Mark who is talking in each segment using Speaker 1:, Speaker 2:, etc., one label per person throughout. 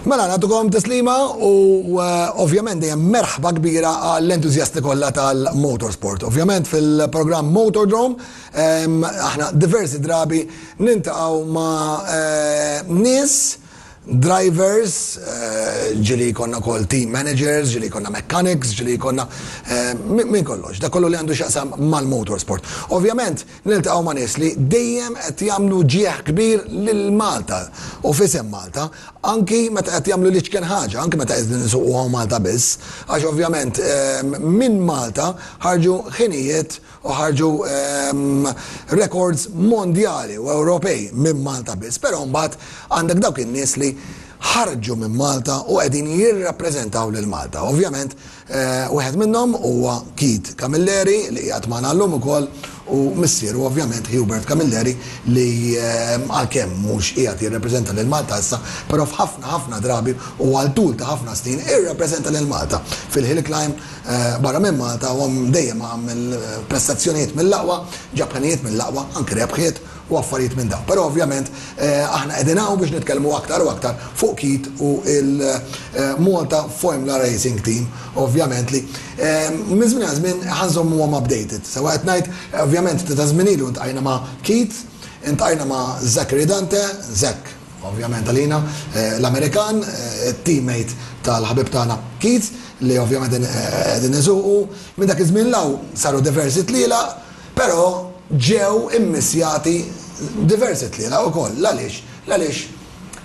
Speaker 1: Mela, natukom tislima u eh, ovvjament dejjem merħba kbira għall-entużjasti kollha tal-motorsport. Ovvjament fil-programm Motordrome aħna diversi drabi nintaqgħu ma' eh, nies drivers, eh, ġili jkollna kol team managers, ġili jkollna mechanics, ġili jkollna minn kollox, da kollu li għandu xaqsam mal-motorsport. Ovvjament, Niltaqgħu ma' nies li dejjem qed jagħmlu ġieħ kbir lil Malta u f'isem Malta, anki meta qed jagħmlu l-iċken ħaġa, anki meta qegħdin isuqu hawn Malta biss, għax ovvjament minn Malta ħarġu ħinijiet u ħarġu rekords mondjali u Ewropej minn Malta biss, però mbagħad għandek dawk in-nies li ħarġu minn Malta u qegħdin jirrappreżentaw lil Malta. Ovvjament Wieħed minnhom huwa Keith Camilleri li qiegħed magħna llum ukoll u missieru ovvjament Hubert Camilleri li għalkemm mhux qiegħed jirrepreżenta lil Malta issa, però f'ħafna ħafna drabi u għal tul ta' ħafna snin irrappreżenta lil Malta fil-hill climb barra minn Malta u dejjem għamel prestazzjonijiet mill-aqwa, ġab ħinijiet mill-aqwa, anki rebħiet u affarijiet minn dawn. Però ovvjament aħna qegħdin hawn biex nitkellmu aktar u aktar fuq Keith u l-Malta Formula Racing Team, ovvjament li minn żmien għal żmien ħa nżommuhom updated. Sewwa qed ngħid, ovvjament ftit ta' żmien ilu ntqajna ma' Keith, intqajna ma' Zachary Dante, Zack ovvjament għalina, l-Amerikan, it-teammate tal-ħabib tagħna Keith, li ovvjament qegħdin isuqu. Minn dak iż-żmien 'l hawn saru diversi tlielaq, Però ġew immissjati diversi tlielaq ukoll. L-għaliex? L-għaliex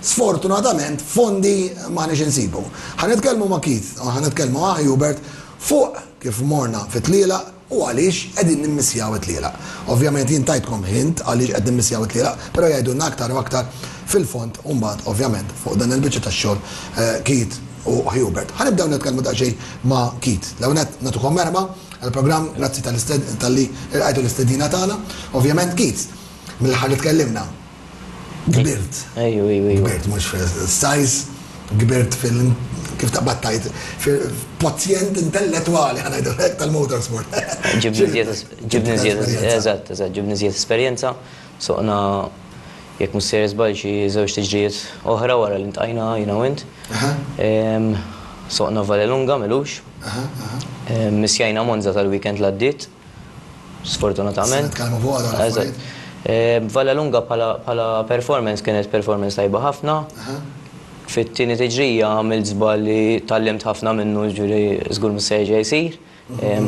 Speaker 1: sfortunatament fondi m'aħniex insibu. Ħa nitkellmu ma' Keith u ħa nitkellmu ma' Hubert fuq kif morna fit-tlielaq u għaliex qegħdin nimmissjaw it-tlielaq. Ovvjament jien tajtkom hint għaliex qed nimmissjaw it-tlielaq, però jgħidulna aktar u aktar fil-fond u mbagħad ovvjament fuq dan il-biċċa tax-xogħol Keith u Hubert. Ħa nibdew nitkellmu daqsxejn ma' Keith. L-ewwel nett nagħtukom merħba. Għall-programm, grazzi talli ilqajtu l-istedina tagħna. Ovvjament Keith, mill-aħħar li tkellimna, kbirt.
Speaker 2: Ejju, ejju, ejju.
Speaker 1: Kbirt mhux fis-size, kbirt fil kif taqbad tgħid, fil-kwozjent intellettwali ħa ngħidu hekk tal-motorsport.
Speaker 2: Ġibni żjed, ġibni żjed, eżatt, eżatt, ġibni żjed esperjenza. Soqna jekk mhux sejjer żball xi żewġ tiġrijiet oħra wara li ntqajna jiena u int. Soqna Vallelunga m'ilux. Missjajna Monza tal-weekend l-għaddiet, sfortunatament.
Speaker 1: Se nitkellmu fuqha dawn l-affarijiet.
Speaker 2: Vallelunga bħala performance kienet performance tajba ħafna. Fit-tieni tiġrija għamilt żball li tgħallimt ħafna minnu, jiġifieri żgur mhux se jerġa' jsir.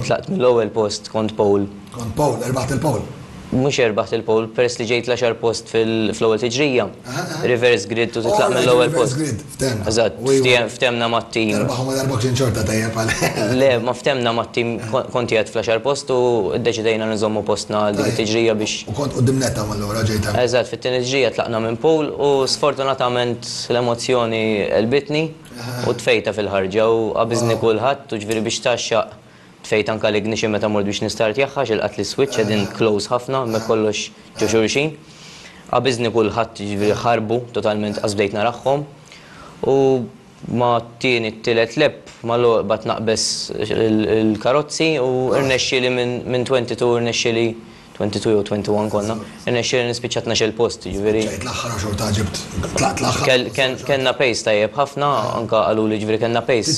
Speaker 2: Tlaqt mill-ewwel post, kont pole.
Speaker 1: Kont pole, erbaħt il-pole.
Speaker 2: Mhux erbaħt il-pole, peress li ġejt l-għaxar post fl-ewwel tiġrija. Reverse grid u titlaq mill-ewwel post.
Speaker 1: Reverse grid, ftehmna.
Speaker 2: Eżatt, ftehmna mat-tim.
Speaker 1: Terbaħ u ma tarbokx inxorta tajjeb għal.
Speaker 2: Le, ma ftehmna mat-tim, kont qiegħed fl-għaxar post u ddeċidejna li nżommu postna għal dik it-tiġrija biex.
Speaker 1: U kont quddiem nett hawn allura ġejt hemm.
Speaker 2: Eżatt, fit-tieni tiġrija tlaqna minn pole u sfortunatament l-emozzjoni għelbitni. U tfejtha fil-ħarġa u qabiżni kulħadd u ġifieri biex tgħaxxaq tfejt anke l-ignition meta mort biex nistartjahha għax ilqatli s-switch qegħdin close ħafna hemmhekk kollox ġo xulxin. Qabiżni kulħadd jiġifieri ħarbu totalment qas bdejt narahhom u ma' t-tieni t-tielet lap mal-ewwel qbadt naqbeż il-karozzi u rnexxieli minn 22 rnexxieli 22 jew 21 konna, irnexxieli nispiċċa tnax-il post, jiġifieri.
Speaker 1: Spiċċajt l-aħħar u xorta ġibt, tlaqt l-aħħar.
Speaker 2: Kellna pace tajjeb ħafna, anke qaluli jiġifieri kellna pace.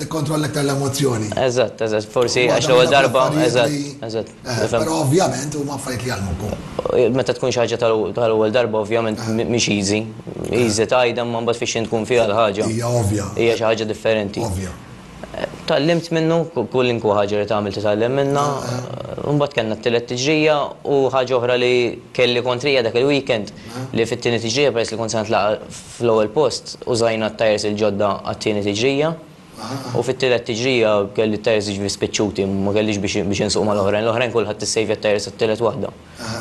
Speaker 1: Tikkontrolla iktar l-emozzjoni.
Speaker 2: Eżatt, eżatt, forsi għax l-ewwel darba, eżatt, eżatt.
Speaker 1: Però ovvjament huma affarijiet li jgħallmuk.
Speaker 2: Meta tkun xi ħaġa tal-ewwel darba ovvjament mhix easy. Easy tgħidha imma mbagħad fix-xejn tkun fiha l-ħaġa.
Speaker 1: Hija ovvja.
Speaker 2: Hija xi ħaġa differenti.
Speaker 1: Ovvja.
Speaker 2: Tgħallimt minnu, kulinkwa ħaġa li tagħmel titgħallem minnha. Imbagħad kellna t-tielet tiġrija u ħaġa oħra li kelli kontrija dak il-weekend li fit-tieni tiġrija peress li kont se nitlaqa' fl-ewwel post użajna t-tyres il-ġodda għat-tieni tiġrija u fit-tielet tiġrija kelli t-tyres jiġifieri spiċċuti ma kellix biex insuq mal-oħrajn. L-oħrajn kulħadd issejvja t-tyres għat-tielet waħda.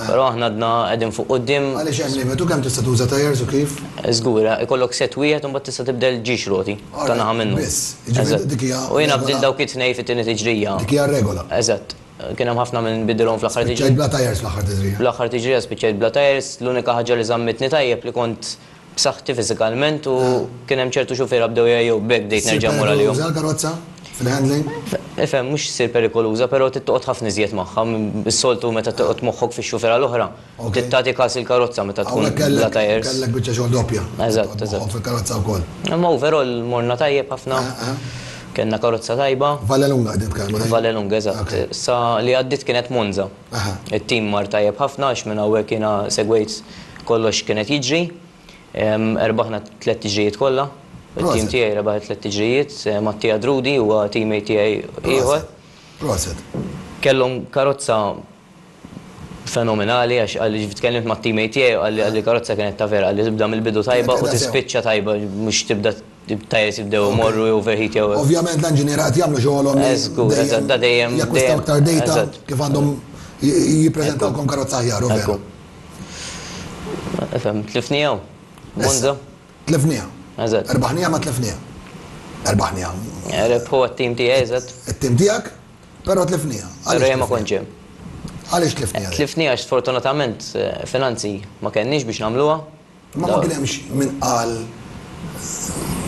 Speaker 2: Però aħna għadna qegħdin fuq quddiem.
Speaker 1: Għaliex hemm limitu kemm tista' tuża tyres u kif?
Speaker 2: Żgur, ikollok set wieħed u mbagħad tista' tibdel ġiex roti ta' naħa minnu.
Speaker 1: Biss, jiġifieri dik hija.
Speaker 2: U jiena bdilt dawk it-tnejn fit-tieni tiġrija.
Speaker 1: Dik hija r-regola.
Speaker 2: Eżatt. Kien hemm ħafna min bidilhom fl-aħħar tiġrija.
Speaker 1: Spiċċajt bla tyres fl-aħħar tiġrija.
Speaker 2: Fl-aħħar tiġrija spiċċajt bla tyres, l-unika ħaġa li żammitni tajjeb li kont. b'saħħti fiżikalment u kien hemm ċertu xufiera bdew jgħajjew b'hekk bdejt nerġa' mmur għalihom.
Speaker 1: Ssir perikoluża l-karozza fil-handling?
Speaker 2: Ifhem, mhux ssir perikoluża, però trid toqgħod ħafna iżjed magħha. Is-soltu meta toqgħod moħħok fix-xufiera l-oħra, trid tagħti kas il-karozza meta tkun bla tyres.
Speaker 1: Hawnhekk kellek biċċa xogħol doppja.
Speaker 2: Eżatt, eżatt.
Speaker 1: Moħħok fil-karozza wkoll.
Speaker 2: Imma overall morna tajjeb ħafna. Kellna karozza tajba.
Speaker 1: Vallelunga qegħdin nitkellmu.
Speaker 2: Vallelunga, eżatt. Sa li għaddiet kienet Monza. It-tim mar tajjeb ħafna għax minn hawnhekk jiena segwejt kollox x'kien qed jiġri. Erbaħna t-tlett tiġrijiet kollha. It-tim tiegħi rebaħ it-tlett tiġrijiet. Mattia Drudi huwa teammate tiegħi ieħor.
Speaker 1: Proset.
Speaker 2: Kellhom karozza fenomenali għax qalli tkellimt mat-teammate tiegħi u qalli qalli l-karozza kienet ta' vera, qalli tibda mill-bidu tajba u tispiċċa tajba mhux tibda t-tyres jibdew imorru jew overheat jew.
Speaker 1: Ovvjament l-inġiniera qed jagħmlu xogħolhom li
Speaker 2: Żgur, eżatt, da dejjem
Speaker 1: jakkwistaw aktar data kif għandhom jippreżentawlkom karozza aħjar, u veru.
Speaker 2: Ifhem, tlifniha hawn. Monza.
Speaker 1: Tlifniha.
Speaker 2: Eżatt.
Speaker 1: Erbaħniha ma tlifniha. Erbaħniha.
Speaker 2: Rebħu għat-tim tiegħi, eżatt.
Speaker 1: It-tim tiegħek, però tlifniha.
Speaker 2: Però jien ma kontx hemm.
Speaker 1: Għaliex tlifniha?
Speaker 2: Tlifniha għax sfortunatament finanzi ma kenniex biex nagħmluha.
Speaker 1: Imma ma kien hemmx min qal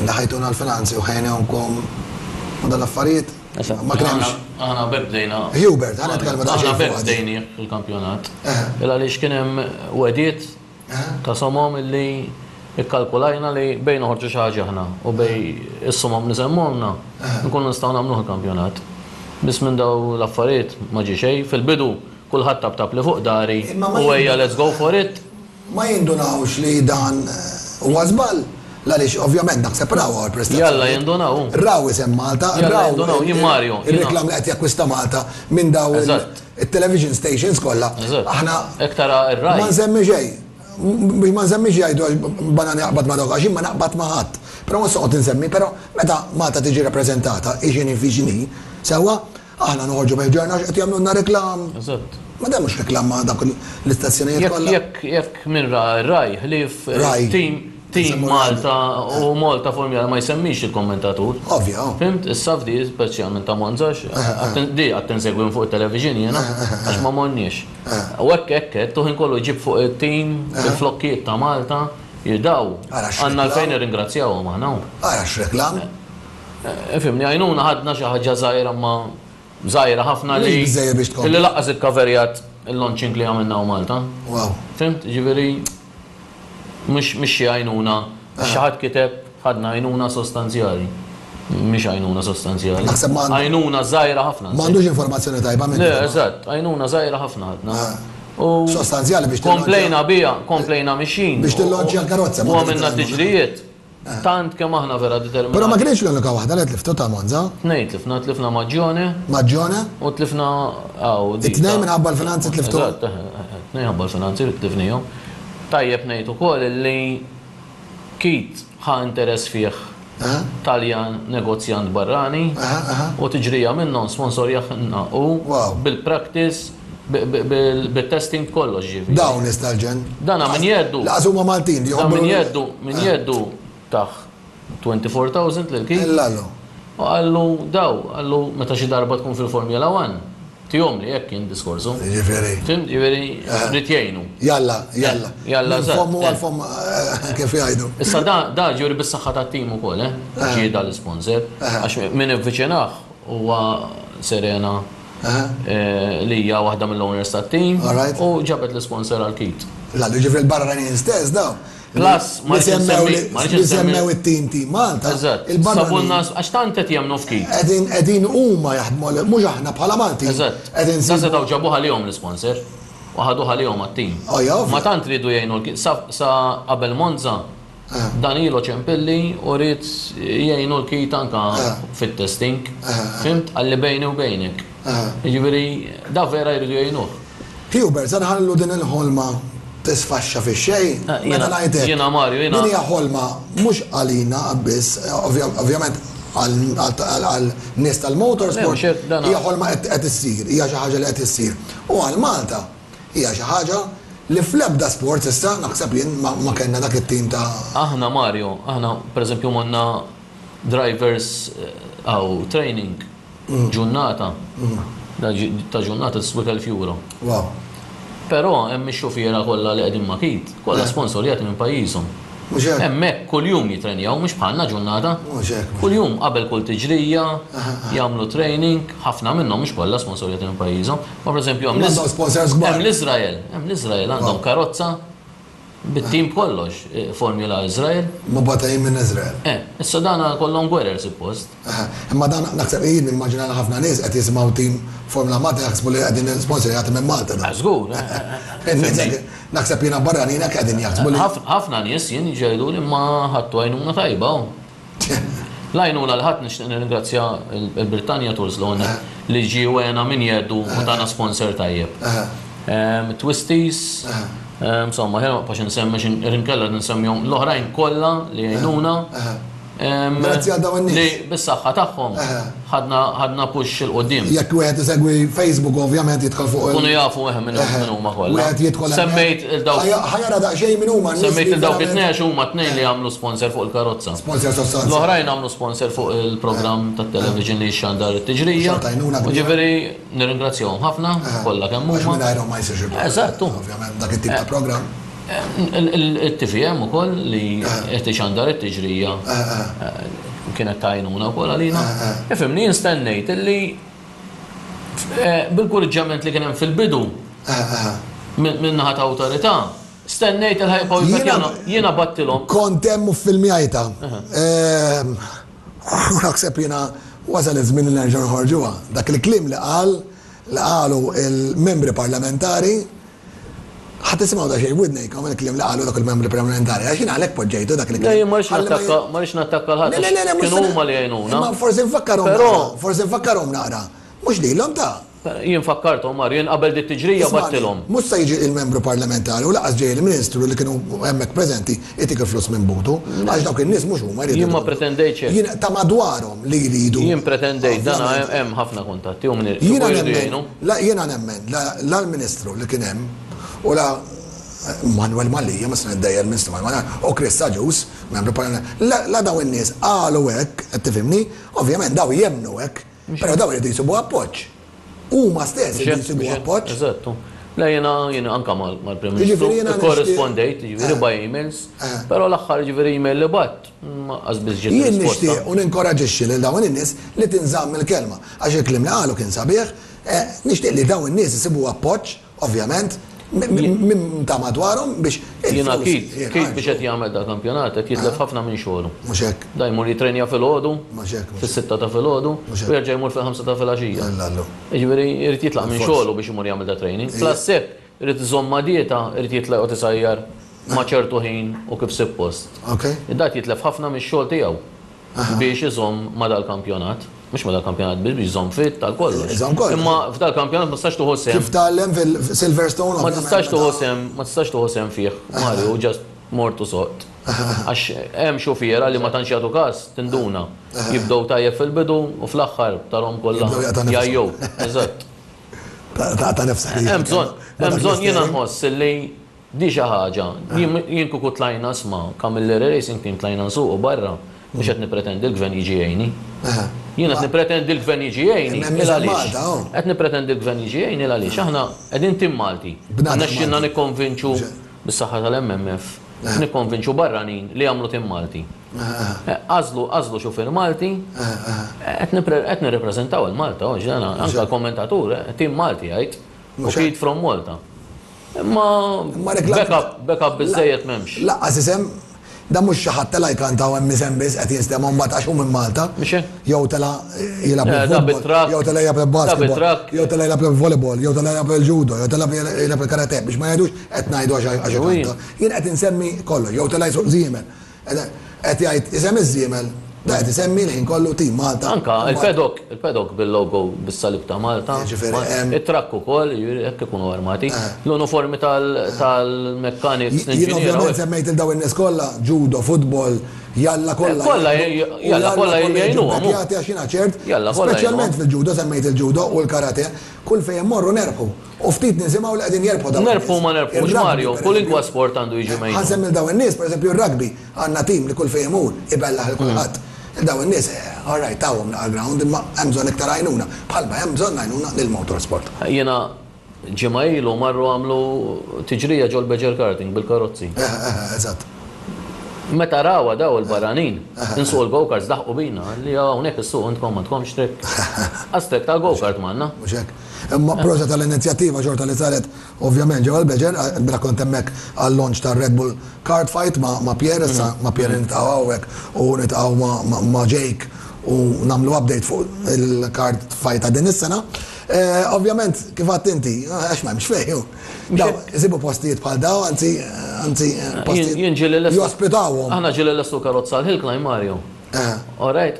Speaker 1: li ħajtuna l-finanzi u ħejnewkom u dan l-affarijiet? Ma kien hemmx.
Speaker 3: Aħna b'hekk bdejna.
Speaker 1: Hubert, ħa nitkellmu daqsxejn
Speaker 3: Aħna b'hekk bdejnieh il-kampjonat. Il għaliex kien hemm wegħdiet ta' somom illi ikkalkulajna li bejn noħorġu xi ħaġa aħna u bejn is-somom li semmulna nkunu nistgħu nagħmluh il-kampjonat. Biss minn dawn l-affarijiet ma ġie xejn. Fil-bidu kulħadd taptapli fuq dari u ejja let's go for it.
Speaker 1: Ma jindunawx li dan huwa żball, l-għaliex ovvjament naħseb raw hawn il-prestazzjoni.
Speaker 3: Jalla jindunaw.
Speaker 1: Raw isem Malta, raw ir-reklam li qed jakkwista Malta minn dawn it-television stations kollha. Aħna ma nsemmi xejn. Biex ma nsemmix jgħidu għax banani jaqbad ma' dawk għax jien ma naqbad ma' ħadd. Però mhux se noqgħod insemmi, però meta Malta tiġi rappreżentata, hi x'inhi fi x'inhi, sewwa, Aħna noħorġu bih ġarna għax qed jagħmlulna reklam.
Speaker 3: Eżatt.
Speaker 1: Ma dan mhux reklam ma' dawk l-istazzjonijiet kollha.
Speaker 3: Jekk jekk min ra r-Rai ħlief team team Malta u Malta Formula ma jsemmix il-kommentatur.
Speaker 1: Ovvja.
Speaker 3: Fhimt? Issa f'di speċjalment ta' Monza għax di qgħadt insegwi minn fuq it-television jiena għax ma morniex. U hekk hekk għedt u ħin kollu jġib fuq it-team il-flokkijiet ta' Malta daw. Għandna għalfejn nirringrazzjawhom aħna.
Speaker 1: Ara x'reklam.
Speaker 3: Ifhimni, għajnuna ħadna xi ħaġa żgħira imma żgħira ħafna li.
Speaker 1: Mhix biżżejjed biex tkompli.
Speaker 3: Li lanqas ikkaverjat il-launching li għamilna hawn Malta.
Speaker 1: Wow.
Speaker 3: Fhimt? Jiġifieri mhux mhix xi għajnuna. Għax xi ħadd kiteb ħadna għajnuna sostanzjali. Mhix għajnuna sostanzjali.
Speaker 1: Naħseb ma.
Speaker 3: Għajnuna żgħira ħafna.
Speaker 1: M'għandux informazzjoni tajba minn.
Speaker 3: Le, eżatt, għajnuna żgħira ħafna ħadna. U.
Speaker 1: Sostanzjali biex
Speaker 3: tilloġġja. Komplejna biha, komplejna mixjin.
Speaker 1: Biex tilloġġja l-karozza.
Speaker 3: U għamilna tiġrijiet. Tant kemm aħna vera determinati.
Speaker 1: Però ma kienx l-unika waħda li tliftu ta' Monza.
Speaker 3: Tnejn tlifna, tlifna Magione.
Speaker 1: Magione.
Speaker 3: U tlifna hawn.
Speaker 1: It-tnejn minħabba l-finanzi tliftu.
Speaker 3: Eżatt, tnejn ħabba l-finanzi li tlifnihom. Tajjeb ngħid ukoll li Keith ħa interess fih Taljan negozjant barrani u tiġrija minnhom sponsorjahna hu bil-practice Bit-testing b'kollox ġifieri.
Speaker 1: Dawn nies tal-ġenn.
Speaker 3: Dana minn jeddu.
Speaker 1: Laqas huma Maltin li
Speaker 3: Dan minn jeddu, minn jeddu tah 24,000 lil Keith.
Speaker 1: Illallu.
Speaker 3: U qallu daw, qallu meta xi darba tkun fil-Formula One, tihomli hekk kien diskorsu.
Speaker 1: Jiġifieri.
Speaker 3: Fhimt? Jiġifieri ried jgħinu.
Speaker 1: Jalla, jalla.
Speaker 3: Jalla.
Speaker 1: Minn fommu għal fomm kif jgħidu.
Speaker 3: Issa da, da ġifieri bis-saħħa tat-tim ukoll, eh? Ġie dal-isponsor. Għax min ivviċinah huwa Serena li hija waħda mill-owners tat-team u ġabet l-isponsor għal Keith.
Speaker 1: Lallu ġifieri l-barranin stess daw.
Speaker 3: Plus, ma
Speaker 1: rridx insemmi. Li semmew it-team Team Malta.
Speaker 3: Eżatt. Sabulna għax tant qed jemmnu f'Keith.
Speaker 1: Qegħdin qegħdin huma jaħdmu mhux aħna bħala Maltin.
Speaker 3: Eżatt. Dan setgħu ġabuh għalihom l-isponsor u ħaduh għalihom għat-team. Ma tant riedu jgħinu l-Keith sa qabel Monza Danilo ċempilli u ried jgħinu l-Keith anka fit-testing. Fhimt? Qalli bejni u bejnek. Jiġifieri da vera jridu jgħinuh.
Speaker 1: Hubert, se nħallu din il-ħolma tisfaxxa fix-xejn? Meta ngħid hekk.
Speaker 3: Jiena Mario, jiena.
Speaker 1: Din hija ħolma mhux għalina biss, ovvjament għal nies tal-motorsport, hija ħolma qed issir, hija xi ħaġa li qed issir. U għal Malta. Hija xi ħaġa li fl-ebda sport s'issa, naħseb jien, ma kellna dak it-tim ta'.
Speaker 3: Aħna Mario, aħna pereżempju morna drivers hawn training ġurnata, ta' ġurnata tiswik 1000 euro.
Speaker 1: Wow.
Speaker 3: Però hemm ix-xufiera kollha li qegħdin ma' Keith, kollha sponsorjati minn pajjiżhom.
Speaker 1: Mhux hekk?
Speaker 3: Hemmhekk kuljum jitrenjaw, mhux bħalna ġurnata.
Speaker 1: Mhux hekk, mhux
Speaker 3: Kuljum qabel kull tiġrija jagħmlu training, ħafna minnhom mhux kollha sponsorjati minn pajjiżhom. Ma pereżempju hemm
Speaker 1: Għandhom sponsors kbar.
Speaker 3: Hemm l-Iżrael, hemm l-Iżrael għandhom karozza bit-tim b'kollox, Formula Israel.
Speaker 1: Mibgħutin minn Iżrael.
Speaker 3: Eh, issa dan kollhom gwerer suppost.
Speaker 1: Aha, imma dan naħseb jien nimmaġina li ħafna nies qed jisimgħu tim Formula Malta jaħsbu li qegħdin sponsorjati minn Malta dan.
Speaker 3: Ah, Żgur.
Speaker 1: Naħseb jiena barranin hekk qegħdin jaħsbu li.
Speaker 3: Ħafna nies jien jgħidu li ma ħadtu għajnuna tajba. L-għajnuna li ħadd nixtieq nirringrazzja il-Britannia Tours l li ġie għena minn jeddu u tana sponsor tajjeb. Twisties, insomma, ħena ma nibqax nsemmi inkella nsemmihom l-oħrajn kollha li jgħinuna.
Speaker 1: Grazzi għal dawn in-nies.
Speaker 3: Li bis-saħħa tagħhom ħadna ħadna push 'il quddiem.
Speaker 1: Jekk wieħed isegwi Facebook ovvjament jidħol fuq il-
Speaker 3: Kunu jafu eħe minn min huma kollha.
Speaker 1: Wieħed jidħol hemmhekk.
Speaker 3: Semmejt il dawk.
Speaker 1: Ħa jara daqsxejn min huma n-nies.
Speaker 3: Semmejt il dawk it-tnejn għax huma tnejn li għamlu sponsor fuq il-karozza.
Speaker 1: Sponsor sostanzjali.
Speaker 3: L-oħrajn għamlu sponsor fuq il-programm tat-television li jxandar it-tiġrija.
Speaker 1: Xorta għajnuna
Speaker 3: U
Speaker 1: kbira.
Speaker 3: ġifieri nirringrazzjahom ħafna kollha kemm
Speaker 1: Għax
Speaker 3: huma.
Speaker 1: mingħajrhom ma jsirx il-programm.
Speaker 3: Eżatt.
Speaker 1: Ovvjament dak it-tip ta' programm.
Speaker 3: Il-TVM ukoll li qed ixandar it-tiġrija kienet tajnuna wkoll għalina. Ifhimni jien stennejt illi bil-kurġġament li kien hemm fil-bidu minn naħa ta' awtorità, stennejt il ħa jibqgħu jiena bgħattilhom.
Speaker 1: Kont hemm u ffilmjajtha. U naħseb jiena wasal iż-żmien li nerġgħu noħorġuha. Dak il-kliem li qal li qalu il-membri parlamentari ħa tisimgħu daqsxejn b'widnejkom il-kliem li qalu dak il-membri parlamentari, għax jiena għalhekk poġġejtu dak il-kliem.
Speaker 3: Le, jien ma rridx nattakka, ma rridx nattakka 'l ħadd.
Speaker 1: Le, le, le, le, mhux
Speaker 3: Kienu huma li għinuna.
Speaker 1: Imma forsi nfakkarhom naqra, forsi nfakkarhom naqra. Mhux lilhom ta'.
Speaker 3: Jien fakkarthom, Mario, jien qabel dit-tiġrija bgħattilhom.
Speaker 1: Mhux se jiġi il-membru parlamentari u lanqas ġej il-Ministru li kienu hemmhekk preżenti jtik il-flus minn butu, għax dawk in-nies mhux huma jridu.
Speaker 3: Jien ma pretendejtx hekk.
Speaker 1: Jien ta' madwarhom li jridu.
Speaker 3: Jien pretendejt, dan hemm ħafna kuntatti u min
Speaker 1: Jiena
Speaker 3: jridu
Speaker 1: nemmen,
Speaker 3: jgħinu.
Speaker 1: la jiena nemmen, la la l-Ministru li kien hemm u la Manuel Mallia, ma se niddejjer il-Ministru Manuel Mallia, u Chris Agius, membru parlamentari, la la dawn in-nies qalu hekk, qed tifhimni, ovvjament dawn jemmnu hekk, però dawn iridu jsibu appoġġ. Huma stess iridu jsibu appoġġ.
Speaker 3: Eżatt. Le jiena jiena anke mal-Prim Ministru
Speaker 1: Jiġifieri jiena nixtieq
Speaker 3: ikkorrispondejt, jiġifieri by emails, però l-aħħar jiġifieri email li bgħatt ma qas biss ġiet
Speaker 1: Jien
Speaker 3: risposta.
Speaker 1: nixtieq u ninkoraġixxi lil dawn in-nies li tinżamm il-kelma, għax il-kliem li qalu kien sabiħ, nixtieq li dawn in-nies isibu appoġġ, ovvjament, minn ta' madwarhom biex
Speaker 3: Jiena
Speaker 1: il-flus
Speaker 3: Keith, Keith biex
Speaker 1: jinħarġu.
Speaker 3: qed jagħmel dal-kampjonat qed jitlef ħafna minn xogħlu.
Speaker 1: Mhux hekk.
Speaker 3: Da jmur jitrenja filgħodu,
Speaker 1: Mhux hekk, mhux hekk.
Speaker 3: fis-sitta ta' filgħodu,
Speaker 1: Mhux hekk.
Speaker 3: u jerġa' jmur fil-ħamsa ta' filgħaxija.
Speaker 1: Alla allu.
Speaker 3: Jiġifieri jrid jitlaq minn
Speaker 1: Bilfors.
Speaker 3: xogħlu biex imur jagħmel da training. Plus hekk irid iżomm ma' dieta, irid jitlaq joqgħod isajjar ma' ċertu ħin u kif suppost.
Speaker 1: Ok.
Speaker 3: Dat jitlef ħafna mix-xogħol tiegħu biex iżomm ma' dal-kampjonat. Mhux ma' dal-kampjonat biss biex iżomm fit tal kollox.
Speaker 1: Iżomm kollox.
Speaker 3: Imma f'dal-kampjonat ma tistax tieħu sehem.
Speaker 1: Kif tgħallem fil-Silverstone
Speaker 3: Ma
Speaker 1: ovvjament
Speaker 3: tistax tieħu
Speaker 1: meta
Speaker 3: sehem, ma tistax tieħu sehem fih, Mario, just mort u soqt. Għax hemm xufiera li ma tantx jagħtu każ, tinduna. Jibdew tajjeb fil-bidu u fl-aħħar tarhom kollha
Speaker 1: Jibdew jaqta' nifshom.
Speaker 3: jgħajjew. Eżatt.
Speaker 1: Taqta' nifsek.
Speaker 3: Hemm bżonn, hemm bżonn jiena nħoss li di xi ħaġa. Jien jien kieku tlajna isma' Camilleri Racing Team tlajna nsuqu barra, mhux qed nippretendi l-gvern jiġi jgħinni. Jien qed nippretendi l-gvern jiġi jgħinni
Speaker 1: Imma hemm
Speaker 3: il
Speaker 1: isem
Speaker 3: għaliex.
Speaker 1: Malta, oh.
Speaker 3: Qed nippretendi l-gvern jiġi jgħinni il għaliex. Aħna qegħdin tim Malti.
Speaker 1: Bnadem
Speaker 3: Rnexxielna
Speaker 1: Malti.
Speaker 3: nikkonvinċu bis-saħħa tal-MMF, nikkonvinċu barranin li jagħmlu tim Malti. Għażlu għażlu xufier Malti, qed nipre- qed nirrepreżentaw il-Malta, oh, ġdana, anke l-kommentatur, tim Malti jgħid, u
Speaker 1: Mhux
Speaker 3: Keith from Malta. Imma
Speaker 1: Imma reklam-
Speaker 3: backup, backup biżżejjed m'hemmx.
Speaker 1: Lanqas isem, dan mhux xi ħadd tela' jkanta u hemm isem biss qed jinstema' mbagħad għax hu minn Malta.
Speaker 3: Mhux hekk?
Speaker 1: Jew tela' jilgħab
Speaker 3: Eh, da
Speaker 1: il-futbol,
Speaker 3: bit-trakk.
Speaker 1: jew tela' jilgħab
Speaker 3: Da
Speaker 1: il-basketball,
Speaker 3: bit-trakk.
Speaker 1: jew tela' jilgħab il-volleyball, jew tela' jilgħab il-judo, jew tela' jilgħab il-karate, biex ma jgħidux qed ngħidu għax għax
Speaker 3: Ui.
Speaker 1: ikanta. Jien qed insemmi kollox, jew tela' jsuq żiemel. Qed jgħid isem iż-żiemel, da qed isemmi l-ħin kollu tim Malta.
Speaker 3: Anka il-paddock, il-paddock bil-logo bis-salib ta' Malta.
Speaker 1: Jiġifieri, hemm-
Speaker 3: It-trakk ukoll, jiġifieri hekk ikunu armati. L-uniformi tal-mechanics,
Speaker 1: Jien
Speaker 3: l-inġiniera.
Speaker 1: ovvjament semmejt il dawn in-nies kollha, judo, futbol, jalla kollha.
Speaker 3: Eh, Kollha,
Speaker 1: u
Speaker 3: jalla kollha
Speaker 1: jiġu
Speaker 3: jgħinuhom, hu.
Speaker 1: bekkjati għax jiena ċert,
Speaker 3: Jalla kollha
Speaker 1: speċjalment
Speaker 3: jgħinuhom.
Speaker 1: fil-judo semmejt il-judo u l-karate, kull fejn immorru nerbħu. U ftit nisimgħu li qegħdin jerbħu dawn.
Speaker 3: Nerbħu
Speaker 1: in-nies.
Speaker 3: ma nerbħux,
Speaker 1: Ir-rugby,
Speaker 3: Mario,
Speaker 1: per
Speaker 3: kull
Speaker 1: eżempju.
Speaker 3: inkwa sport għandu jiġi mejnu.
Speaker 1: Ħa nsemmi dawn in-nies, per eżempju ir-rugby, għandna tim li kull fejn imur ibellaħ lil kulħadd. Dawn in-nies, eh, all right, tawhom naqra ground, imma hemm bżonn iktar għajnuna. Bħalma hemm bżonn għajnuna lill-motorsport.
Speaker 3: Jiena ġimgħa ilu marru għamlu tiġrija ġol Beġer Karting bil-karozzi.
Speaker 1: Eh, eh, Eżatt.
Speaker 3: Meta rawha daw il-barranin, insuqu l-go-karts daħqu bina, li hawnhekk issuqu intkom m'għandkomx track. Qas track tal-go-kart m'għandna.
Speaker 1: Mhux hekk. Imma proset tal-inizjattiva xorta li saret ovvjament ġewwa l-Beġer, ilbieraħ kont hemmhekk għal-launch tar-Red Bull Kart Fight ma' Pierre, issa ma' Pierre niltaqgħu hawnhekk u niltaqgħu ma' Jake u nagħmlu update fuq il-kart fight ta' din is-sena. Ovvjament, kif għedt inti, għax m'hemmx fejn hu. Daw, isibu postijiet bħal daw, anzi, anzi, postijiet.
Speaker 3: Jien ġieli lestu.
Speaker 1: Jospitawhom.
Speaker 3: Aħna ġieli lestu karozza għal hill climb, Mario. All right.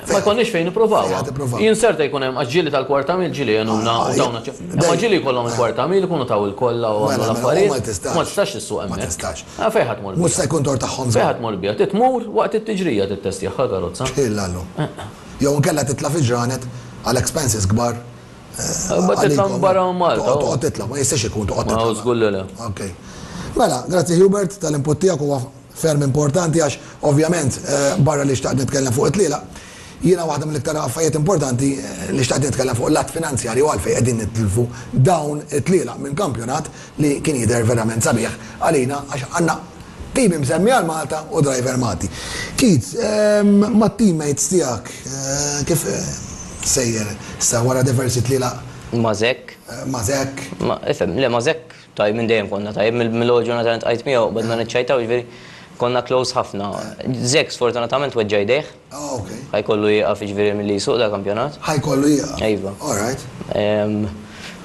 Speaker 3: Ma jkollniex fejn nippruvawha. Jien serta jkun hemm għax ġieli tal-kwarta mil ġieli għenuna u tawna. Imma ġieli jkollhom il-kwarta mil ikunu taw il-kolla u għamlu l-affarijiet.
Speaker 1: Ma tistax.
Speaker 3: Ma tistax issuq hemmhekk.
Speaker 1: Ma tistax.
Speaker 3: Fejn ħa tmur biha?
Speaker 1: Mhux se jkun tort tagħhom.
Speaker 3: Fejn ħa tmur biha? Trid tmur waqt it-tiġrija tittestjaha l-karozza.
Speaker 1: Illallu. Jew inkella titla' fi ġranet għal expenses kbar.
Speaker 3: Ma titla' minn barra minn Malta.
Speaker 1: Toqgħod titla', ma jistax ikun toqgħod titla'.
Speaker 3: Ma żgur li le.
Speaker 1: Ok. Mela, grazzi Hubert tal-input tiegħek huwa ferm importanti għax ovvjament barra li xtaqt nitkellem fuq it-tlielaq, jiena waħda mill-iktar affarijiet importanti li xtaqt nitkellem fuq l-att finanzjarju għalfejn qegħdin nitilfu dawn it-tlielaq minn kampjonat li kien jidher verament sabiħ għalina għax għandna team imsemmi għal Malta u driver Malti. Keith, mat-teammates tiegħek kif sejjer issa wara diversi tlielaq?
Speaker 2: Ma' Zek.
Speaker 1: Ma' Zek.
Speaker 2: Ma' ifhem, le ma' Zek tajjeb minn dejjem konna tajjeb, mill-ewwel ġurnata li ltqajt miegħu qbadna niċċajtaw jiġifieri konna close ħafna. Zek sfortunatament weġġa' jdejh.
Speaker 1: Ah, ok.
Speaker 2: Ħa jkollu jieqaf jiġifieri milli jsuq dal-kampjonat.
Speaker 1: Ħa jkollu jieqaf?
Speaker 2: Iva.
Speaker 1: All right.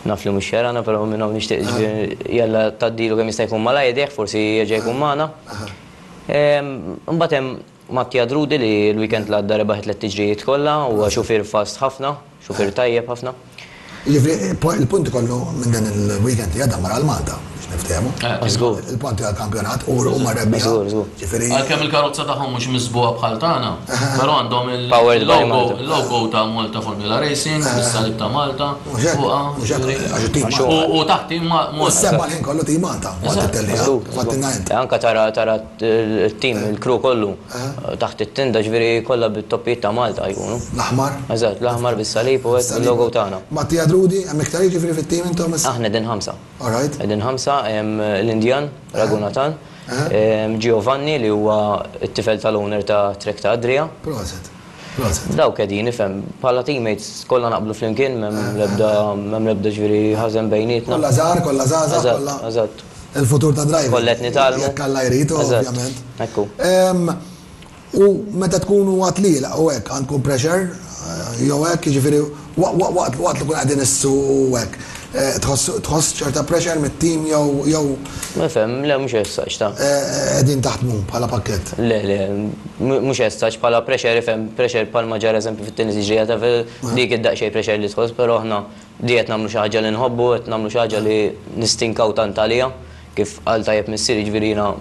Speaker 2: Naf li mhux xerana, però minn hawn nixtieq jiġifieri jalla tgħaddilu kemm jista' jkun malajr idejh, forsi jerġa' jkun magħna. Imbagħad hemm Mattia Drudi li l-weekend li għadda rebaħ it-tliet tiġrijiet kollha, huwa xufier fast ħafna, xufier tajjeb ħafna.
Speaker 1: Jiġifieri il-punti kollu minn dan il-weekend li għadda mar għal Malta biex niftehmu.
Speaker 2: Żgur.
Speaker 1: Il-punti għall-kampjonat u huma rebbieħa.
Speaker 2: Żgur, żgur.
Speaker 1: Ġifieri.
Speaker 3: Għalkemm il-karozza tagħhom mhux miżbugħa bħal tagħna, però għandhom il-logo, il-logo ta' Malta Formula Racing, bis-salib ta' Malta fuqha.
Speaker 1: Mhux hekk, għax it-tim Malta.
Speaker 3: U taħt tim Malta.
Speaker 1: U s-seba' l-ħin kollu tim Malta waqt it-tellieqa, kif għedtilna int.
Speaker 2: Anke tara tara t-tim, il-crew kollu taħt it-tinda ġifieri kollha bit-toppijiet ta' Malta jkunu.
Speaker 1: L-aħmar?
Speaker 2: Eżatt, l-aħmar bis-salib u hekk bil-logo tagħna.
Speaker 1: Mattia Drudi, hemm iktar jiġifieri fit-tim intom issa?
Speaker 2: Aħna qegħdin ħamsa.
Speaker 1: All right.
Speaker 2: Qegħdin ħamsa, hemm l-Indjan, Raghunathan, Giovanni li huwa t-tifel tal-owner ta' Trek ta' Adria.
Speaker 1: Proset. Proset.
Speaker 2: Dawk qegħdin, ifhem, bħala teammates kollha naqblu flimkien, m'hemm l-ebda m'hemm l-ebda ġifieri ħażen bejnietna.
Speaker 1: Kollha żgħar, kollha żgħażagħ, kollha.
Speaker 2: Eżatt, eżatt.
Speaker 1: Il-futur ta' driving.
Speaker 2: Kollha qed nitgħallmu.
Speaker 1: Jekk Alla jrid, ovvjament.
Speaker 2: Ekku.
Speaker 1: U meta tkunu għat-tlielaq u hekk għandkom pressure jew hekk, jiġifieri waqt li tkun qegħdin issuqu u hekk, tħoss ċerta pressure mit-tim jew jew.
Speaker 2: Nifhem, le mhux as such ta.
Speaker 1: Qegħdin taħdmu bħala pakkett?
Speaker 2: Le, le, mhux as such bħala pressure ifhem, pressure bħalma ġara eżempju fit-tieni tiġrija ta' dik id-daqsxejn pressure li tħoss, però aħna Di qed nagħmlu xi ħaġa li nħobbu, qed nagħmlu xi ħaġa li nistinkaw tant għaliha, kif qal tajjeb missieri, jiġifieri jiena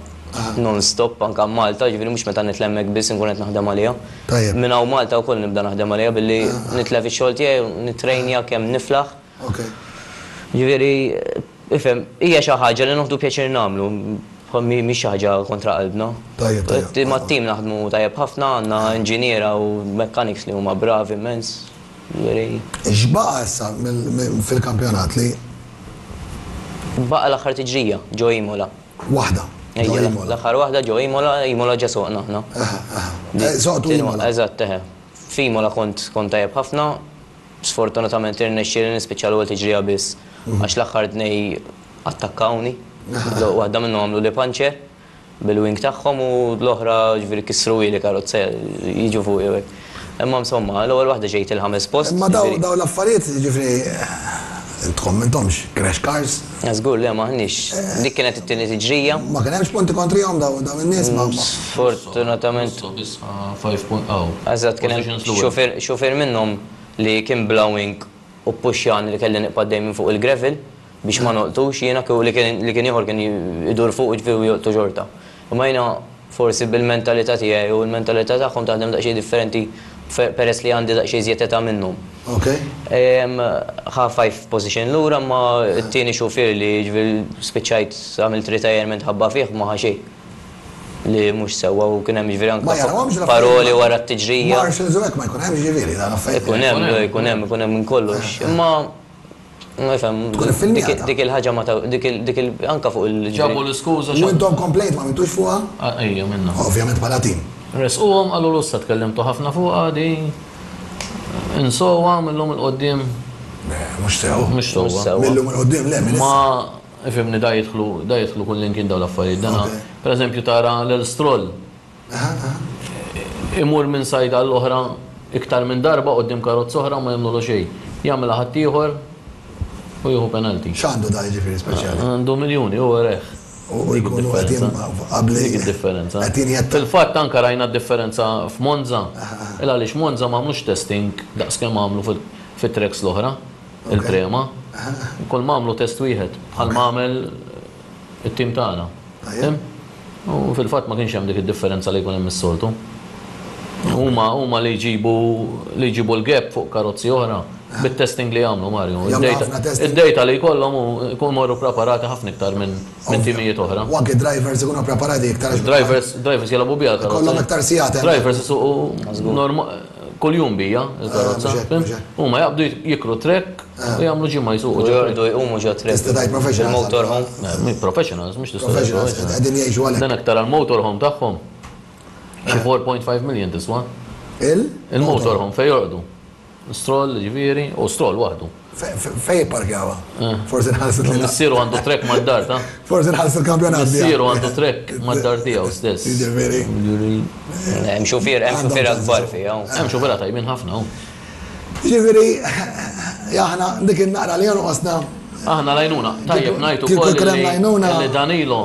Speaker 2: non stop anke Malta, jiġifieri mhux meta nitla' hemmhekk biss inkun qed naħdem għaliha. Minn hawn Malta wkoll nibda naħdem għaliha billi nitlef ix-xogħol tiegħi u nittrejnja kemm niflaħ. Jiġifieri, ifhem, hija xi ħaġa li nieħdu pjaċir nagħmlu, mhix xi ħaġa kontra qalbna. Mat-tim naħdmu tajjeb ħafna, għandna inġiniera u mechanics li huma bravi immens.
Speaker 1: X'baqa' issa fil-kampjonat li.
Speaker 2: Baqa' l-aħħar tiġrija, ġo Imola.
Speaker 1: Waħda, ġo Imola.
Speaker 2: L-aħħar waħda ġo Imola, Imola ġa soqna aħna.
Speaker 1: Soqtu Imola.
Speaker 2: Eżatt, eħe. F'Imola kont kont tajjeb ħafna, sfortunatament irnexxieli nispiċċa l-ewwel tiġrija biss għax l-aħħar tnej attakkawni. Waħda minnhom għamluli puncture. bil-wing tagħhom u l-oħra ġifieri kissruhieli karozza jiġu fuqi u hekk. Imma insomma, l-ewwel waħda ġejt il-ħames post.
Speaker 1: Imma dawn l-affarijiet jiġifieri intkom m'intomx crash cars?
Speaker 2: Żgur le m'aħniex. Dik kienet it-tieni tiġrija.
Speaker 1: Ma kien hemmx punti kontrihom dawn in-nies?
Speaker 2: Sfortunatament.
Speaker 3: Biss 5 punt aw.
Speaker 2: Eżatt kien hemm xufier minnhom li kien bla wing u ppuxxjani li kelli nibqa' għaddej minn fuq il-gravel biex ma nolqtux jiena kieku li kien li kien ieħor kien idur fuqu ġifieri u jolqtu xorta. Imma jiena forsi bil-mentalità tiegħi u l-mentalità tagħhom taħdem daqsxejn differenti peress li għandi daqsxejn iżjed età minnhom.
Speaker 1: Ok.
Speaker 2: Ħa five position lura imma t-tieni xufier li ġifieri spiċċajt għamilt retirement ħabba fih ma ħa xejn. Li mhux sewwa u kien hemm jiġifieri anke paroli wara t-tiġrija.
Speaker 1: Marshals u hekk ma jkun hemmx jiġifieri dan affarijiet.
Speaker 2: Ikun hemm, ikun hemm, ikun hemm minn kollox. Imma Nifhem.
Speaker 1: Tkun iffilmjata.
Speaker 2: Dik il-ħaġa ma ta' dik il dik il anke fuq il.
Speaker 3: Ġabu l-iskuża
Speaker 1: U intom complaint ma għamiltux fuqha?
Speaker 3: Ejja minna.
Speaker 1: Ovvjament bħala team.
Speaker 3: Ressquhom qalulu issa tkellimtu ħafna fuqha di insowha mil-lum 'il quddiem.
Speaker 1: Le, mhux sew.
Speaker 3: Mhux sewwa.
Speaker 1: Mil-lum 'il quddiem le, minn issa.
Speaker 3: Ma ifhimni da jidħlu da jidħlu kullimkien dawn l-affarijiet. Dana pereżempju tara lil Stroll Imur minn side għal oħra iktar minn darba quddiem karozza oħra u ma jagħmlulu xejn. Jagħmilha ħaddieħor u jieħu penalty.
Speaker 1: X'għandu da jiġifieri speċjali?
Speaker 3: Għandu miljuni, hu reħ.
Speaker 1: U jkunu qed qabli.
Speaker 3: Dik id-differenza.
Speaker 1: Qed jinjetta.
Speaker 3: Fil-fatt anke rajna d-differenza f'Monza. Il għaliex Monza ma għamlux testing daqs kemm għamlu fit-tracks l-oħra, il-Prema. Kull ma għamlu test wieħed bħal ma għamel it-tim tagħna. Fhimt? U fil-fatt ma kienx hemm dik id-differenza li jkun hemm is-soltu. Huma huma li jġibu li jġibu l-gap fuq karozzi oħra bit-testing li jagħmlu Mario. Id-data li jkollhom jkunu jmorru preparati ħafna iktar minn minn timijiet oħra.
Speaker 1: U anke drivers ikunu preparati iktar.
Speaker 3: Drivers drivers jilagħbu biha l-karozza.
Speaker 1: Ikollhom iktar sigħat.
Speaker 3: Drivers isuqu norma kuljum bija l-karozza. Huma jaqbdu jikru track U jagħmlu ġimgħa jsuqu.
Speaker 2: U jorqdu jqumu ġo trip.
Speaker 1: Tista' tgħid professionals.
Speaker 2: Il-motorhome.
Speaker 3: Professionals, mhux tista'
Speaker 1: Professionals, qegħdin jgħixu għalhekk.
Speaker 3: Dan aktar għall-motorhome tagħhom. Xi 4.5 million tiswa.
Speaker 1: Il?
Speaker 3: Il-motorhome fejn jorqdu. Stroll, ġifieri, u Stroll waħdu.
Speaker 1: Fejn jipparkjawha? Forsi nħallsu tlielaq.
Speaker 3: Missieru għandu trek mad-dar ta'.
Speaker 1: Forsi nħallsu l-kampjonat.
Speaker 3: Missieru għandu trek mad-dar tiegħu stess.
Speaker 1: Jiġifieri.
Speaker 2: Hemm xufier, hemm xufiera kbar fiha.
Speaker 3: Hemm xufiera tajbin ħafna.
Speaker 1: Ġifieri, aħna dik in-naqra li jonqosna.
Speaker 3: Aħna l-għajnuna. Tajjeb ngħid ukoll li Danilo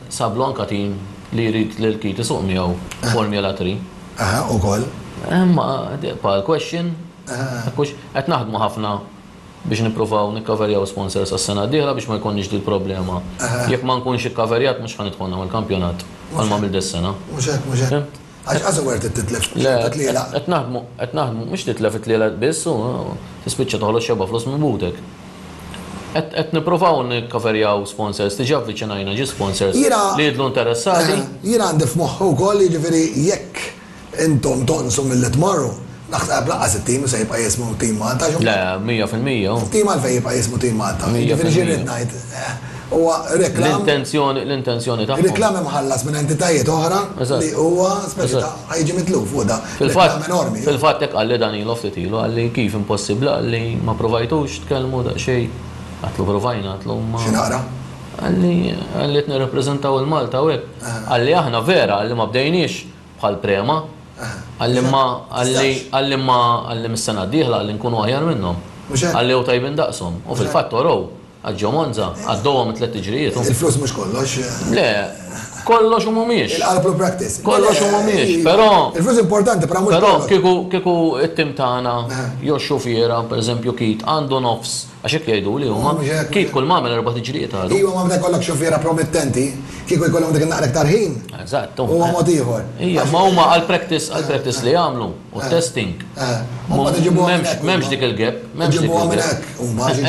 Speaker 3: sablu anka tim li jrid lil Keith isuq miegħu Formula 3.
Speaker 1: Aha, ukoll.
Speaker 3: Imma tibqa' l-question. Qed naħdmu ħafna biex nippruvaw nikkaverjaw sponsors għas-sena d-dieħla biex ma jkollniex dil-problema. Jekk ma nkunx ikkaverjat mhux ħa nidħol nagħmel kampjonat bħalma għamilt dis-sena.
Speaker 1: Mhux hekk, mhux hekk. Għax qas worth it titlef
Speaker 3: xorta tlielaq. Le, qed naħdmu, qed naħdmu, mhux titlef it-tlielaq biss u tispiċċa toħroġ xebgħa flus minn butek. Qed qed nippruvaw nikkaverjaw sponsors, diġà avviċinajna ġie sponsors li jidhlu interessati.
Speaker 1: Jiena għandi f'moħħi wkoll jiġifieri jekk intom tonqsu milli tmorru, naħseb lanqas it-tim se jibqa' jismu Team Malta għax
Speaker 3: Le, 100%.
Speaker 1: It-tim għalfejn jibqa' jismu Team Malta? Jiġifieri xi rrid ngħid? Huwa reklam.
Speaker 3: L-intenzjoni, l-intenzjoni tagħhom.
Speaker 1: Reklam imħallas minn entitajiet oħra li huwa speċi ta' ħa jiġi mitluf fuq da.
Speaker 3: Fil-fatt, fil-fatt hekk qalli Danilo ftit ilu, qalli kif impossibbli, qalli ma provajtux tkellmu daqsxejn. Għedtlu provajna, għedtlu ma.
Speaker 1: Xi naqra?
Speaker 3: Qalli, qalli qed nirrappreżentaw il-Malta u hekk. Qalli aħna vera, qalli ma bdejniex bħal Prema. Qalli ma, qalli, qalli ma, qalli mis-sena d-dieħla qalli nkunu aħjar minnhom. Qalli jew tajbin daqshom. U fil-fatt urew. Għax ġo Monza għaddewhom it-tlett tiġrijiet.
Speaker 1: Il-flus mhux kollox.
Speaker 3: Le, kollox u mhumiex.
Speaker 1: Il-qalb u l-practice.
Speaker 3: Kollox u mhumiex, però.
Speaker 1: Il-flus importanti, però mhux kollox.
Speaker 3: Però kieku kieku t-tim tagħna jew x-xufiera, pereżempju Keith, għandu nofs, għax hekk jgħiduli huma, Keith kull ma għamel erba' tiġrijiet għadu.
Speaker 1: Iva, ma meta jkollok xufiera promettenti, kieku jkollhom dik in-naqra iktar ħin.
Speaker 3: Eżatt.
Speaker 1: Huwa mod ieħor.
Speaker 3: Ija, ma huma għall-practice għall-practice li jagħmlu u t-testing. M'hemmx dik il-gap. M'hemmx dik il-gap.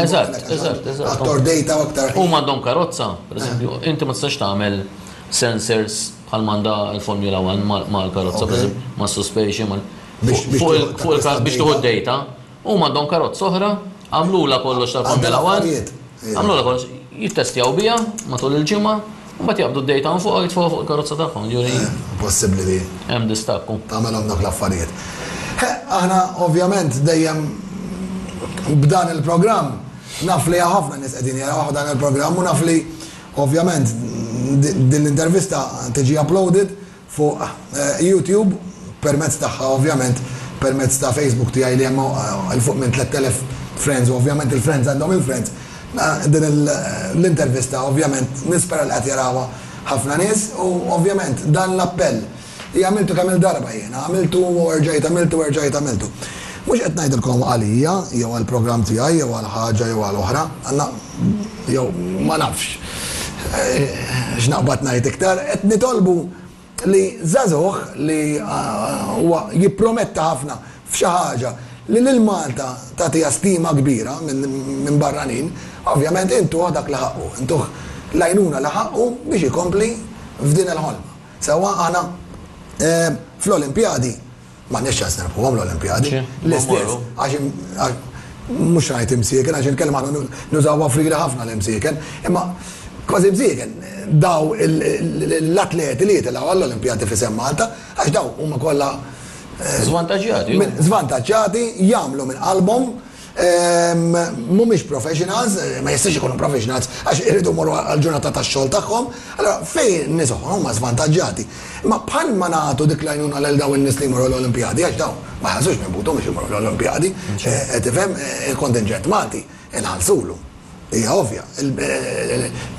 Speaker 3: Eżatt, eżatt, eżatt.
Speaker 1: Aktar data u aktar.
Speaker 3: Huma għandhom karozza, pereżempju, inti ma tistax tagħmel sensors bħal m'għandha l-Formula One mal-karozza, pereżempju, mas-suspension, mal biex tieħu d-data. Huma għandhom karozza oħra, għamlulha kollox tal-Formula One, għamlulha kollox, jittestjaw biha matul il-ġimgħa, u mbagħad jaqbdu d-data minn fuqha u jitfgħuha fuq il-karozza tagħhom, jiġifieri.
Speaker 1: Impossibbli li.
Speaker 3: Hemm distakk.
Speaker 1: Tagħmelhom dawk l-affarijiet. Aħna ovvjament dejjem b'dan il-programm naf li ħafna nies qegħdin jaraw dan il-programm u naf li ovvjament din l-intervista tiġi uploaded fuq YouTube permezz tagħha ovvjament permezz ta' Facebook tiegħi li hemm 'il fuq minn 3000 friends u ovvjament il-friends għandhom il-friends din l-intervista ovvjament nispera li qed jarawha ħafna nies u ovvjament dan l-appell li għamiltu kemm-il darba jiena għamiltu u erġajt għamiltu u erġajt għamiltu. Mhux qed ngħidilkom għalija jew għall-programm tiegħi jew għal ħaġa jew għal oħra, għandna jew ma nafx x'naqbad ngħid iktar, qed nitolbu li żagħżugħ li huwa jipprometta ħafna f'xi ħaġa li lil Malta tagħtiha stima kbira minn barranin, ovvjament intuh dak li ħaqqu, intuh l-għajnuna li ħaqqu biex ikompli f'din il-ħolma. Sewwa aħna fl-Olimpjadi M'għandniex ċans nirbħuhom l-Olimpjadi. L-istess, għax. mhux ngħid imsieken għax il-kelma aħna nużawha frira ħafna l-imsieken, imma kważi msieken daw l-atleti li jitilgħu għall-Olimpjadi f'isem Malta, għax daw huma kollha
Speaker 3: Żvantaġġjati.
Speaker 1: Żvantaġġjati, jagħmlu minn qalbhom, mhumiex professionals, ma jistax ikunu professionals għax iridu jmorru għall-ġurnata tax-xogħol tagħhom, allura fejn nies oħra huma żvantaġġjati. Imma bħalma nagħtu dik l-għajnuna lil dawn in-nies li jmorru l-Olimpjadi, għax dawn ma jħallsux minn buthom biex imorru l-Olimpjadi, qed tifhem, il-kontinġent Malti inħallsulu. Hija ovvja.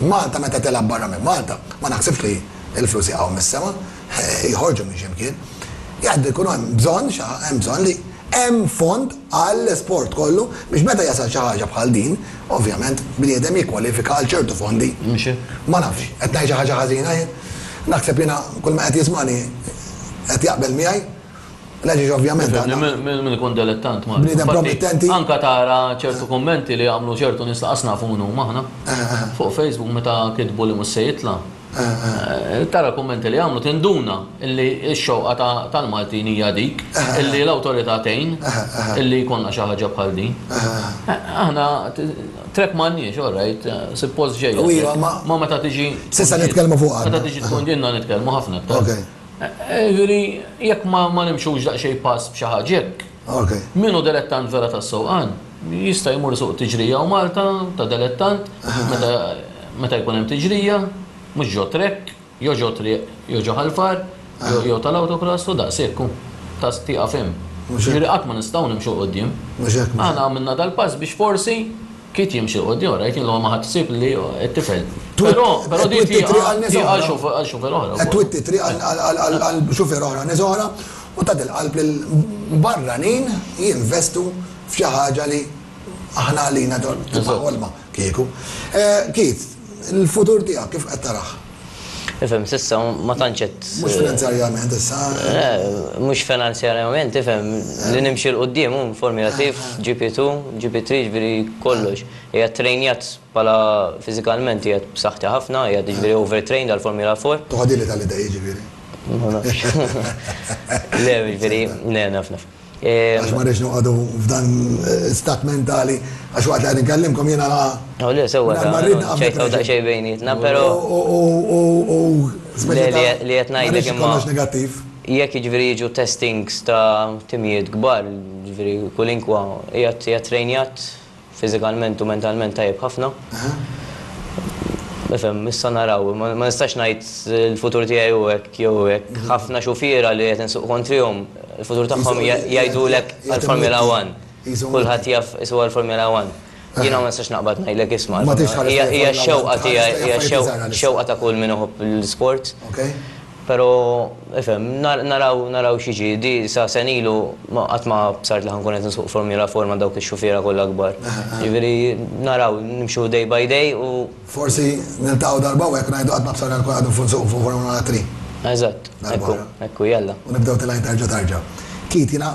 Speaker 1: Malta meta tilgħab barra minn Malta, ma naħsibx li l-flus jaqgħu mis-sema, joħorġu minn xi mkien. Jgħaddu jkun hemm bżonn, hemm bżonn li hemm fond għall-isport kollu biex meta jasal xi ħaġa bħal din, ovvjament bniedem jikkwalifika għal ċertu fondi. Ma nafx, qed ngħid xi ħaġa ħażina jien? Naħseb jiena kull ma qed jismagħni qed jaqbel miegħi. L-għax ovvjament.
Speaker 3: Min ikun dilettant ma.
Speaker 1: Bniedem promettenti.
Speaker 3: Anka tara ċertu kummenti li għamlu ċertu nies laqas nafu min huma aħna. Fuq Facebook meta kitbu li mhux se jitla'. Tara kummenti li għamlu tinduna illi x-xewqa tal-Maltin hija dik illi l-awtorità tgħin illi jkollna xi ħaġa bħal din. Aħna trek m'għandniex, all right, suppost ġejja. Ma meta tiġi.
Speaker 1: S'issa nitkellmu fuqha.
Speaker 3: Meta tiġi tkun ġinna nitkellmu ħafna aktar. Jiġifieri jekk ma nimxux daqsxejn pass b'xi ħaġa hekk. Min hu dilettant vera tas-sewqan jista' jmur isuq tiġrija hawn Malta ta' dilettant meta meta jkun hemm tiġrija, mhux ġo trekk, jew ġo triq, jew ġo Ħal Far, jew tal-autocross u daqshekk hu. Ta' tieqaf hemm. Jiġifieri qatt ma nistgħu nimxu 'l quddiem. Aħna għamilna dal-pass biex forsi Kit jimxi 'l quddiem wara jien l-ewwel ma ħadt ħsieb li t-tifel. Però però di tieqa għal xufier oħra.
Speaker 1: Qed twitti triq għal xufier oħra, nies oħra u tagħti l-qalb lil barranin jinvestu f'xi ħaġa li aħna għalina tibqa' ħolma kieku. Keith, il-futur tiegħek kif qed tarah?
Speaker 2: Ifhem, s'issa ma tantx qed.
Speaker 1: Mhux finanzjarjament issa.
Speaker 2: Mhux finanzjarjament, ifhem, li nimxi 'l quddiem hu Formula 3, GP2, GP3, jiġifieri kollox. Qiegħed trejnjat bħala fiżikalment qiegħed b'saħħti ħafna, qiegħed jiġifieri overtrained għall-Formula 4.
Speaker 1: Toħodili tal-idej jiġifieri.
Speaker 2: Ma nafx. Le, jiġifieri, le naf naf.
Speaker 1: Għax ma rridx noqogħdu f'dan stat mentali għax waqt li qed inkellimkom jiena
Speaker 2: Oh, le, sewwa ċajtaw daqsxejn bejnietna, però.
Speaker 1: U
Speaker 2: li qed ngħidlek imma.
Speaker 1: Kollox negattiv.
Speaker 2: Jekk jiġifieri jiġu testings ta' timijiet kbar, jiġifieri kulinkwa qiegħed trejnjat Fiżikalment u mentalment tajjeb ħafna. Nifhem, issa naraw, ma nistax ngħid il-futur tiegħi hu hekk jew hekk. Ħafna xufiera li qed insuq kontrihom, il-futur tagħhom jgħidulek għall-Formula One. Kulħadd jaf isuq għall-Formula One. Jiena ma nistax naqbad ngħidlek isma'. Hija x-xewqa tiegħi, hija x-xewqa ta' kull min iħobb l-isport. Pero, ifhem, naraw, naraw x'jiġi. Di sa sena ilu ma qatt ma bsart li ħa nkun qed nsuq Formula 4 ma' dawk ix-xufiera kollha kbar. Jiġifieri naraw, nimxu day by day u.
Speaker 1: Forsi niltaqgħu darba u hekk ngħidu qatt ma bsarna nkun qed nsuq fuq Formula 3.
Speaker 2: Eżatt, hekk hu, hekk hu, jalla.
Speaker 1: U nibdew tilgħin terġa' tarġa'. Keith, jiena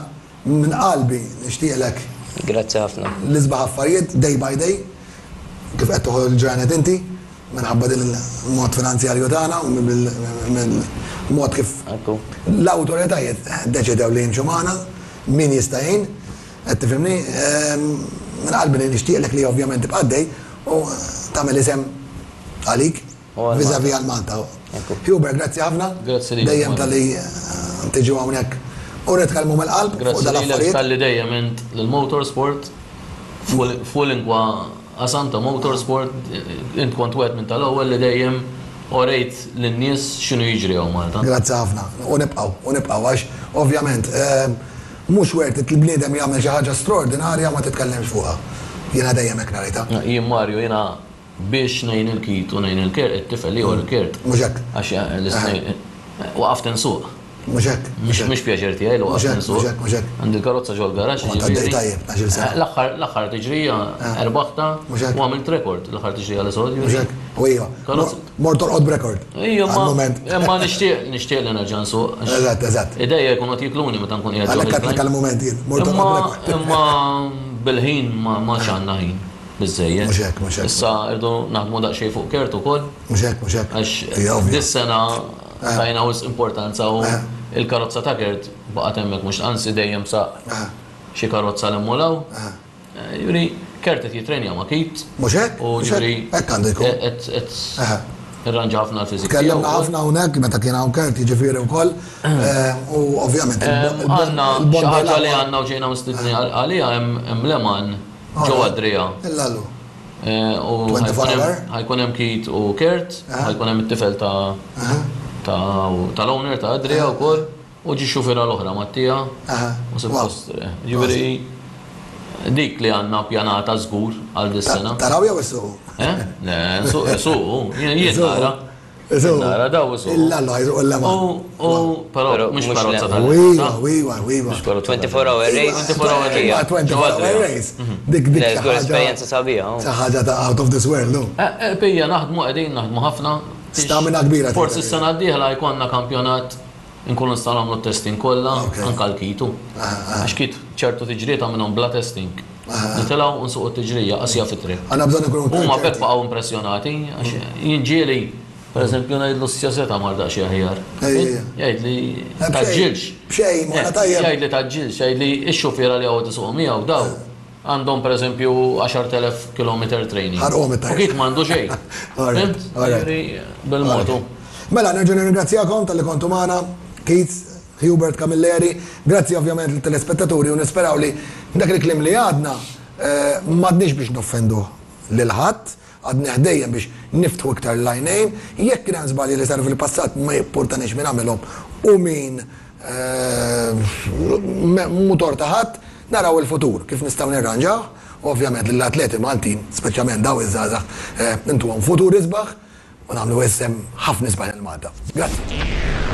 Speaker 1: minn qalbi nixtieqlek.
Speaker 2: Grazzi ħafna.
Speaker 1: L-isbaħ affarijiet, day by day, kif qed toħod il-ġranet inti. Minħabba din il-mod finanzjarju tagħna u mill-mod kif l-awtoritajiet deċidew li jimxu magħna, min jista' jgħin, qed tifhimni, minn qalbi li nixtieqlek li ovvjament tibqa' għaddej u tagħmel isem għalik vis-à-vis għal Malta. Hubert, grazzi ħafna.
Speaker 3: Grazzi lilek.
Speaker 1: Dejjem talli tiġu hawnhekk u nitkellmu mill-qalb fuq dan l-affarijiet.
Speaker 3: Grazzi lilek talli dejjem għint lill-motorsport fuq lingwa Qasam ta' motorsport, int kont wieħed minn tal-ewwel li dejjem orejt lin-nies x'inhu jiġri hawn Malta.
Speaker 1: Grazzi ħafna. U nibqgħu, u nibqgħu għax ovvjament mhux worth it li bniedem jagħmel xi ħaġa straordinarja u ma titkellimx fuqha. Jiena dejjem hekk narajtha.
Speaker 3: Jien Mario, jiena biex ngħin il-Keith u ngħin il-Kurt, it-tifel l-ieħor il-Kurt.
Speaker 1: Mhux hekk.
Speaker 3: Għax l-istnejn waqaft insuq.
Speaker 1: Mhux hekk.
Speaker 3: Mhux pjaċir tiegħi li waqaft insuq.
Speaker 1: Mhux hekk, mhux hekk.
Speaker 3: Għandi l-karozza ġol-garaxx.
Speaker 1: Kont għaddej tajjeb, 12-il sena.
Speaker 3: L-aħħar tiġrija erbaħtha u għamilt rekord l-aħħar tiġrija li soqt.
Speaker 1: Mhux hekk. U iva. Mort torqod b'rekord.
Speaker 3: Ija, ma nixtieq nixtieq li nerġa' nsuq.
Speaker 1: Eżatt, eżatt.
Speaker 3: Idejja jkunu qed jikluni meta nkun qiegħed.
Speaker 1: Għalhekk għedtlek għall-mument jien. Mort torqod b'rekord.
Speaker 3: Imma bil-ħin ma għandna ħin biżżejjed.
Speaker 1: Mhux hekk, mhux hekk.
Speaker 3: Issa rridu naħdmu daqsxejn fuq Kurt ukoll.
Speaker 1: Mhux hekk, mhux hekk.
Speaker 3: Għax dis-sena Tajna wisq importanza u il-karozza ta' Kurt baqgħet hemmhekk mhux anzi dejjem saq xi karozza l-hemm u 'l hawn. Jiġifieri Kurt qed jittrenja ma' Keith.
Speaker 1: Mhux hekk?
Speaker 3: U jiġifieri
Speaker 1: Hekk għandu jkun.
Speaker 3: Qed irranġa ħafna l-fiżik.
Speaker 1: Tkellimna ħafna hawnhekk meta kien hawn Kurt jiġifieri wkoll. U ovvjament.
Speaker 3: Għandna xi ħaġa li għandna u ġejna mistedni għaliha hemm Le Mans ġo Adria.
Speaker 1: Illallu.
Speaker 3: U ħa jkun hemm Keith u Kurt, ħa jkun hemm it-tifel ta' tal-owner ta' Adria wkoll. U ġie xufiera l-oħra Mattia. U suppost, ġifieri dik li għandna ppjanata żgur għal dis-sena.
Speaker 1: Taraw jew issuqu?
Speaker 3: Eh? Le, isuqu, jien nara. Nara daw isuqu.
Speaker 1: Illa la jisuqu illa ma.
Speaker 3: U però mhux karozza tal
Speaker 1: Iva, iva, iva.
Speaker 2: 24 hour race.
Speaker 3: 24 hour race.
Speaker 1: 24 hour race. Dik dik.
Speaker 2: Żgur esperjenza sabiħa.
Speaker 1: Xi ħaġa ta' out of this world, no?
Speaker 3: Pija naħdmu qegħdin naħdmu ħafna.
Speaker 1: Stamina kbira.
Speaker 3: Forsi s-sena d-dieħla jkollna kampjonat Inkunu nistgħu nagħmlu t-testing kollha, anke l-kitu. Għax kit ċertu tiġrijiet għamilhom bla testing. Nitilgħu u nsuqu t-tiġrija qasja fit-triq.
Speaker 1: Għandna bżonn inkunu
Speaker 3: Huma b'hekk baqgħu impressjonati għax jien ġieli, pereżempju, ngħidlu s-sja mar daqsxejn aħjar. Jgħidli tgħaġġilx.
Speaker 1: B'xejn, morna tajjeb.
Speaker 3: Jgħidli tgħaġġilx, jgħidli x-xufiera li hawn qed isuqu miegħu daw għandhom pereżempju 10,000 kilometer training.
Speaker 1: Ħarqhom it-tajjeb.
Speaker 3: U Keith m'għandu xejn. Fhimt? Jiġifieri bil-mod hu.
Speaker 1: Mela, nerġa' nirringrazzjakom talli kontu magħna, Keith, Hubert Camilleri, grazzi ovvjament lit-telespettaturi u nisperaw li dak il-kliem li għadna m'għadniex biex noffendu lil ħadd, għadnih dejjem biex niftħu iktar l-għajnejn, jekk kien hemm żbalji li saru fil-passat ma jippurtanix min għamilhom u min mhu tort ta' ħadd, naraw il-futur kif nistgħu nirranġawh u ovvjament lill-atleti Maltin, speċjalment dawn iż-żgħażagħ, intuhom futur isbaħ u nagħmlu isem ħafna isbaħ lil Malta. Grazzi.